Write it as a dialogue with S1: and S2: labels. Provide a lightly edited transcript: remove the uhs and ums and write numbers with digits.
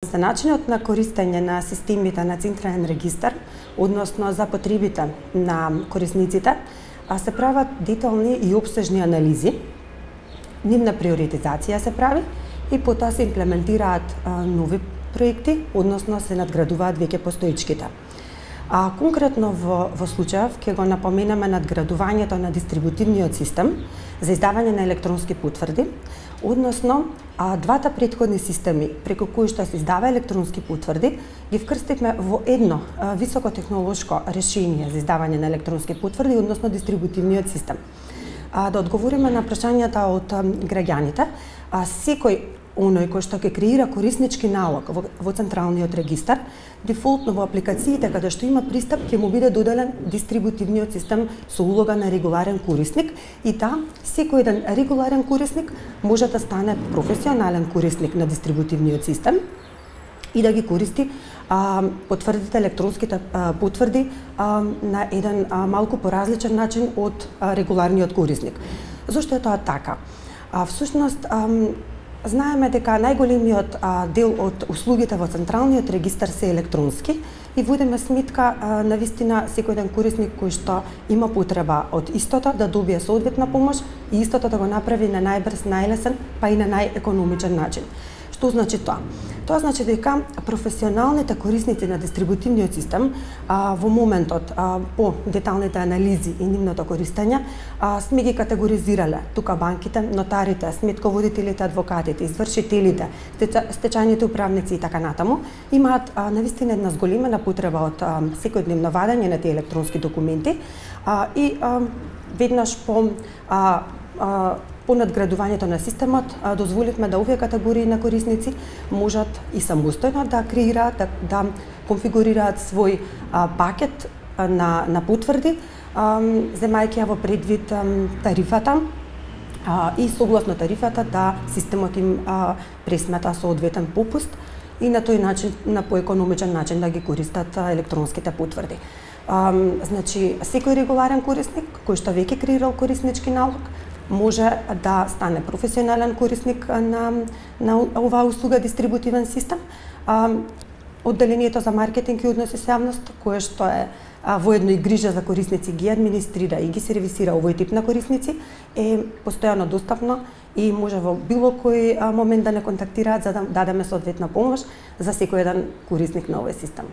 S1: За начинот на користење на системите на централен регистар, односно за потребите на корисниците, се прават детални и опсежни анализи, нивна приоритизација се прави и потоа се имплементираат нови проекти, односно се надградуваат веќе постоечките. Конкретно во случајов ќе го напоменеме надградувањето на дистрибутивниот систем за издавање на електронски потврди, односно двата претходни системи преку кои што се издава електронски потврди ги вкрстивме во едно високотехнолошко решение за издавање на електронски потврди, односно дистрибутивниот систем. Да одговориме на прашањата од граѓаните, секој оној кој што ќе креира кориснички налог во централниот регистар, дефолтно во апликациите каде што има пристап ќе му биде доделен дистрибутивниот систем со улога на регуларен корисник и секој еден регуларен корисник може да стане професионален корисник на дистрибутивниот систем и да ги користи потврдите, електронските потврди на еден малку поразличен начин од регуларниот корисник. Зошто е тоа така? Всушност, знаеме дека најголемиот дел од услугите во централниот регистар се електронски и водиме сметка навистина секој еден корисник кој што има потреба од истото да добие соодветна помош и истото да го направи на најбрз, најлесен, па и на најекономичен начин. Што значи тоа? Тоа значи дека професионалните корисници на дистрибутивниот систем во моментот по деталните анализи и нивното користење сме ги категоризирале тука банките, нотарите, сметководителите, адвокатите, извршителите, стечајните управници и така натаму имаат навистина една зголемена потреба од секојдневно вадење на тие електронски документи и веднаш по надградувањето на системот дозволивме да овие категории на корисници можат и самостојно да креираат, да конфигурираат свој пакет на потврди, земајќи ја во предвид тарифата и согласно тарифата да системот им пресмета соодветен попуст и на тој начин, на поекономичен начин да ги користат електронските потврди. Значи, секој регуларен корисник кој што веќе креирал кориснички налог може да стане професионален корисник на оваа услуга дистрибутивен систем. Одделението за маркетинг и односи со јавност, кое што е воедно и грижа за корисници, ги администрира и ги сервисира овој тип на корисници, е постојано достапно и може во било кој момент да не контактираат за да дадеме соодветна помош за секој еден корисник на овој систем.